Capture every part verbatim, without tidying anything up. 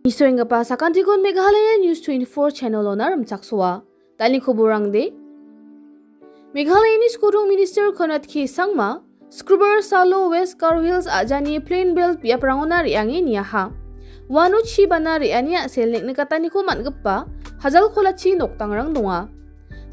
Nisoenggipa sakantikon Meghalaya News twenty-four channel-ona rimchaksoa. Dal·ni koborangde. Meghalayani Skodong Minister Conrad K Sangma, Skrubar salo West Garo Hills a·jani plain belt biaprangona re·ange niaha. Uano chi bana re·ani a·sel neng·nikataniko man·gipa hajal kolachi nokdangrang donga.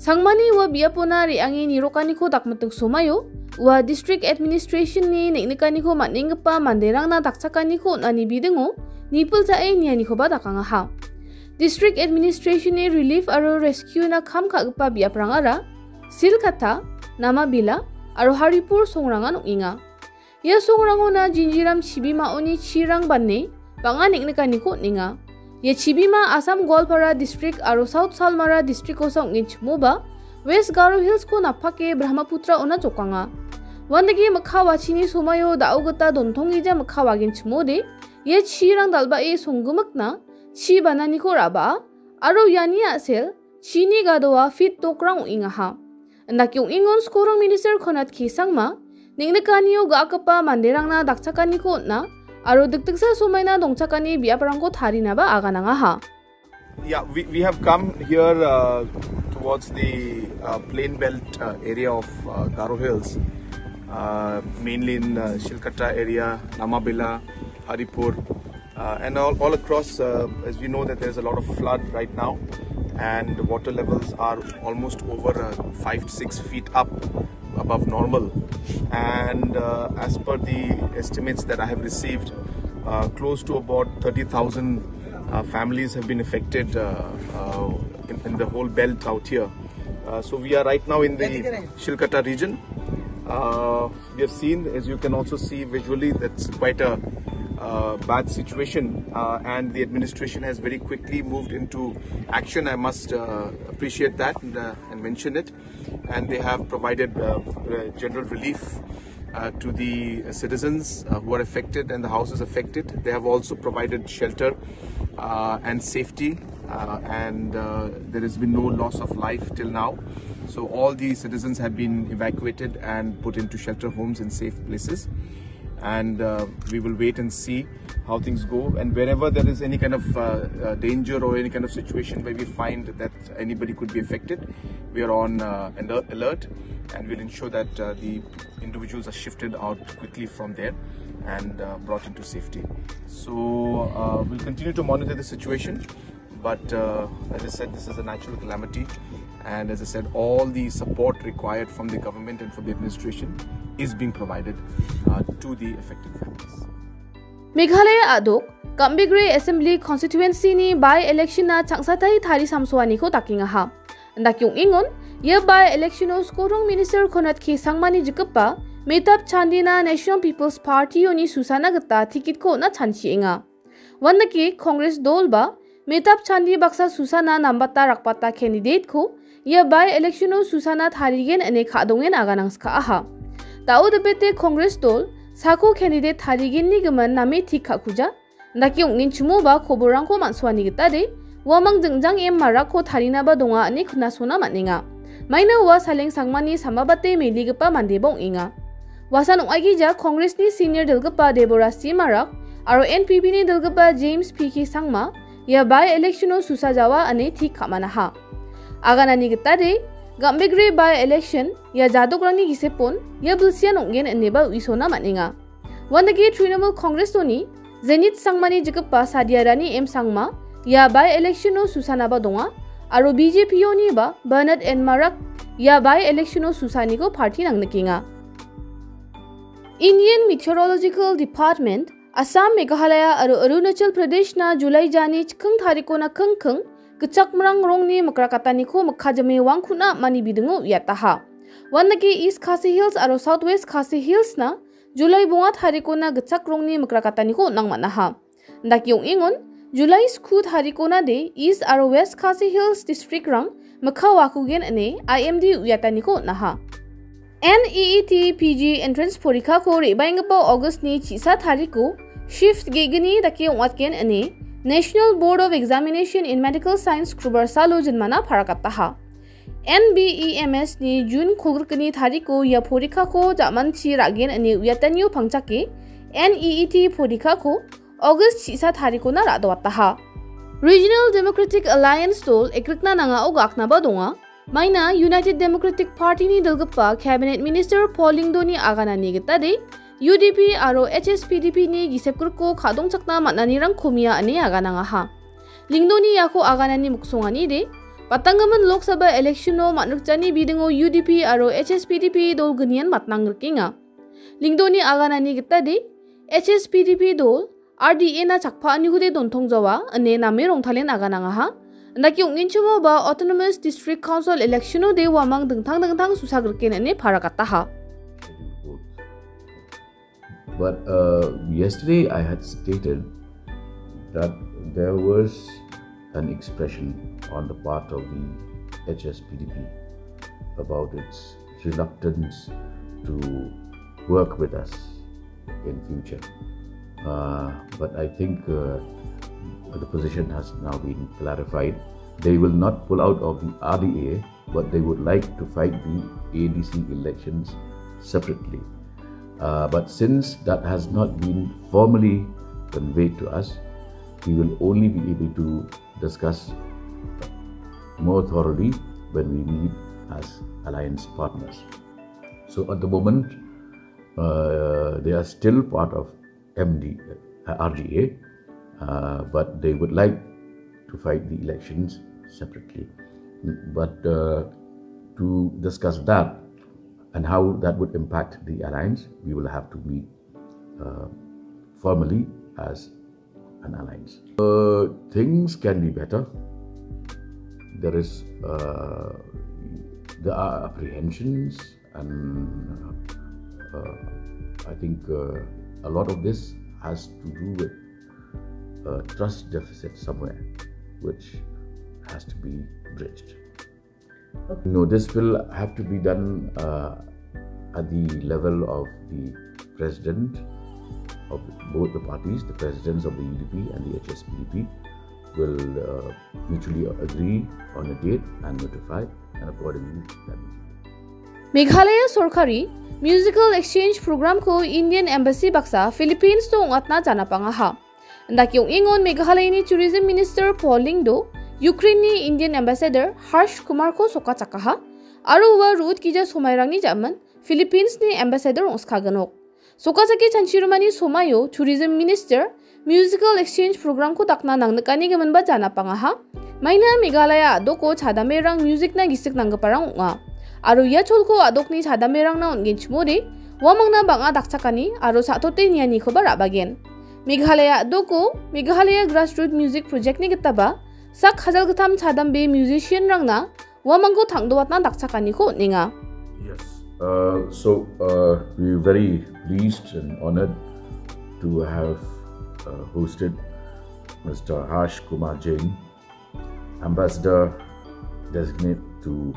Sangmani ua biapona re·ange nirokaniko dakmiting somaio, ua District Administration-ni neng·nikaniko man·enggipa manderangna dakchakaniko on·ani bidingo nipilchae nianikoba dakangaha. District Administration-ni relief aro rescue-na kam ka·gipa biaprangara Silkata, Namabila aro Haripur songrangan ong·enga. Ia songrangona Jinjiram chibimaoni chirang bane bang·a neng·nikaniko on·enga. Ia chibima Assam Goalpara District aro South Salmara District-osa ong·genchimoba West Garo Hills-ko napake Brahmaputra-ona jokanga. Uandake mikka wachini somaio da·o gita dontongija mikka wagenchimode ia chirang dal·bae songgimikna chi bananiko ra·baa aro iani a·sel chini gadoa fit dokrang ong·engaha. Indake ong·engon Skodong Minister Conrad K Sangma, neng·nikanio ga·akgipa manderangna dakchakaniko on·a aro dikdiksa somaina dongchakani biaprangko tarinaba aganangaha. Yeah, we, we have come here, uh, towards the, uh, plain belt, uh, area of, uh, Garo Hills, uh, mainly in, uh, Shilkata area, Namabela, Haripur, uh, and all, all across, uh, as we know that there's a lot of flood right now, and the water levels are almost over, uh, five to six feet up above normal. And, uh, as per the estimates that I have received, uh, close to about thirty thousand, uh, families have been affected, uh, uh, in, in the whole belt out here. Uh, so we are right now in the Shilkata region. Uh, we have seen, as you can also see visually, that's quite a, uh, bad situation, uh, and the administration has very quickly moved into action. I must, uh, appreciate that and, uh, and mention it. And they have provided, uh, uh, general relief, uh, to the citizens, uh, who are affected and the houses affected. They have also provided shelter, uh, and safety, uh, and, uh, there has been no loss of life till now. So all the citizens have been evacuated and put into shelter homes in safe places. And, uh, we will wait and see how things go. And wherever there is any kind of, uh, uh, danger or any kind of situation where we find that anybody could be affected, we are on, uh, alert, alert, and we'll ensure that, uh, the individuals are shifted out quickly from there and, uh, brought into safety. So, uh, we'll continue to monitor the situation, but, uh, as I said, this is a natural calamity, and as I said, all the support required from the government and from the administration is being provided, uh, to the affected families. Meghalaya a·dok, Gambegre Assembly Constituency-ni by-election-na changsatai tarisamsoaniko dakengaha. Indake ong·engon, ia by-election-o Skodong Minister Conrad K Sangmani jikgipa Metab Chandina National People's Party-oni susana gita ticket-ko on·a chanchienga. Uandake Congress dol ba Metab Chandi baksa susana nambata rakbata candidate-ko ia by-election-o susana tarigen ine ka·dongen aganangskaaha. Da·o dipete Congress dol sako candidate tarigenni gimin name tik ka·kuja, dake ong·genchimoba koborangko man·soani gitade, uamang jingjang em marakko tarinaba donga ine knasona man·enga. Maina ua Saleng Sangmani samabate meligipa mandeba ong·enga. Uasan ong·aigija Congress-ni senior dilgipa Deborah C Marak aro N P P-ni dilgipa James P K Sangma ia by-election-o susa jawa ine tik ka·manaha. Aganani gitade, Gambegre by-election ia jadokrangni gisepon ia bilsian ong·gen ineba uisona man·enga. Uandake Trinamool Congress-oni Zenith Sangmani jikgipa Sadiarani M Sangma ia by-election-o susanaba donga aro B J P-oniba Bernard N Marak ia by-election-o susaniko party nangnikenga. Indian Meteorological Department, Assam, Meghalaya aro Arunachal Pradesh-na July jani chikking tarikona kingking gitchakmrang rongni mikrakataniko mikka jime wangkuna mani bidingo uiataha. Uandake East Khasi Hills aro South West Khasi Hills-na July bonga tarikona gitchak rongni mikrakataniko on·ang man·aha. Dake ong·engon, July sku tarikonade East aro West Khasi Hills district-rang mikka wakugen ine I M D uiataniko on·aha. N E E T P G entrance porikako re·baenggipa August-ni chisa tariko shift ge·gni dake ong·atgen ine National Board of Examination in Medical Science Skrubar salo jinmana parakataha. N B E M S-ni June kolgrikni tariko ia porikako jamanchi ra·gen ine uiatanio pangchake N E E T porikako August chisa tarikona ra·doataha. Regional Democratic Alliance dol ekrikna nangao gaknaba donga. Maina United Democratic Party-ni dilgipa Cabinet Minister Paul Lyngdoh-ni aganani gitade U D P aro H S P D P-ni gisepgrikko ka·dongchakna man·anirangko mia ine aganangaha. Lyngdoh-ni iako aganani miksonganide, batanggimin Lok Sabha election-o man·rikjani bidingo U D P aro H S P D P dol gnian matnangrikenga. Lyngdoh-ni aganani gitade, H S P D P dol, R D A-na chakpa·anikude dontongjawa, ine name rongtalen aganangaha. Indake ong·genchimoba Autonomous District Council election-ode uamang dingtang dingtang susagriken ine paragataha. But, uh, yesterday I had stated that there was an expression on the part of the H S P D P about its reluctance to work with us in future. Uh, but I think, uh, the position has now been clarified. They will not pull out of the R D A, but they would like to fight the A D C elections separately. Uh, but since that has not been formally conveyed to us, we will only be able to discuss more thoroughly when we meet as alliance partners. So at the moment, uh, they are still part of M D, uh, R D A, uh, but they would like to fight the elections separately. But, uh, to discuss that and how that would impact the alliance, we will have to meet, uh, formally as an alliance. Uh, things can be better. There is, uh, there are apprehensions, and, uh, I think, uh, a lot of this has to do with, uh, trust deficit somewhere, which has to be bridged. Okay. No, this will have to be done, uh, at the level of the president of both the parties, the presidents of the U D P and the H S P D P will, uh, mutually agree on a date and notify, and accordingly that will be done. Meghalaya sorkari musical exchange program-ko Indian Embassy baksa Philippines-o ong·atna janapangaha. Indake ong·engon Meghalayani Tourism Minister Paul Lyngdoh, Ukraine-ni Indian Ambassador Harsh Kumar-ko sokachakaha, aro ua ruot gija somairangni ja·min Philippines-ni Ambassador ong·skagnok. Sokachake chanchirimani somaio Tourism Minister musical exchange program-ko dakna nangnikanigiminba janapangaha. Maina Meghalaya a·doko chadamerang music-na gisik nanggiparang ong·a. Aro ia cholko a·dokni chadamerangna on·genchimode, uamangna bang·a dakchakani aro sa·tote nianikoba ra·bagen. Meghalaya a·doko Meghalaya Grassroot Music Project-ni gitaba sak hajalgittam chadambe musician-rangna uamangko tangdoatna dakchakaniko on·enga. Yes. Uh, so, uh, we're very pleased and honored to have, uh, hosted Mister Harsh Kumar Jain, Ambassador Designate to,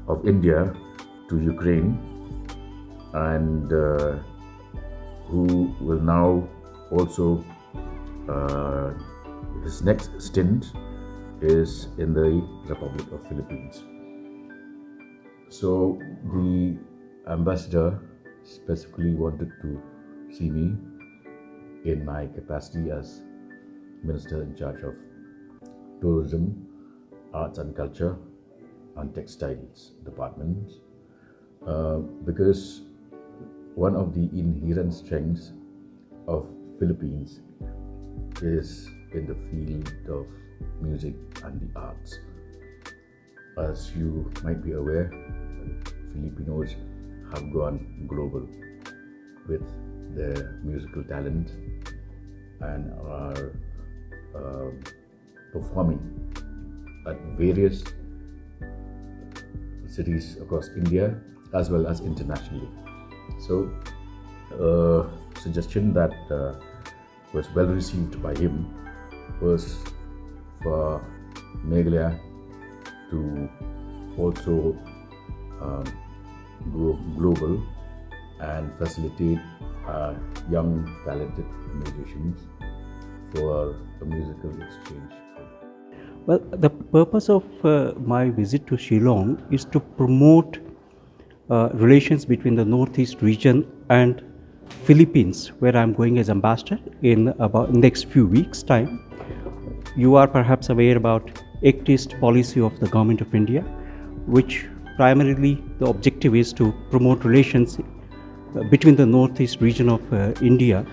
of India to Ukraine, and, uh, who will now also, uh, his next stint is in the Republic of Philippines. So the ambassador specifically wanted to see me in my capacity as Minister in charge of Tourism, Arts and Culture and Textiles departments, uh, because one of the inherent strengths of Philippines is in the field of music and the arts. As you might be aware, Filipinos have gone global with their musical talent and are, um, performing at various cities across India as well as internationally. So, uh, suggestion that, uh, was well received by him was for Meghalaya to also, um, go global and facilitate our young talented musicians for a musical exchange program. Well, the purpose of, uh, my visit to Shillong is to promote, uh, relations between the Northeast region and Philippines, where I'm going as ambassador in about next few weeks' time. You are perhaps aware about ACT East policy of the Government of India, which primarily the objective is to promote relations uh, between the northeast region of uh, India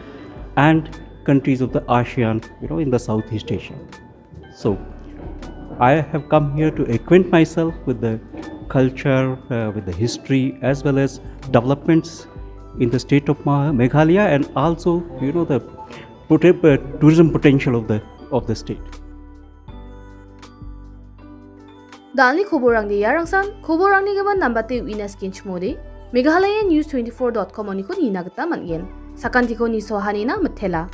and countries of the ASEAN, you know, in the Southeast Asia. So I have come here to acquaint myself with the culture, uh, with the history, as well as developments in the state of Ma- Meghalaya, and also, you know, the poten- uh, tourism potential of the of the state. Dalni koborangde iarangsan, koborangni gimin nambate uina skenchimode, Meghalaya News twenty-four dot com oniko nina gita man·gen. Sakantiko nisohanina mitela.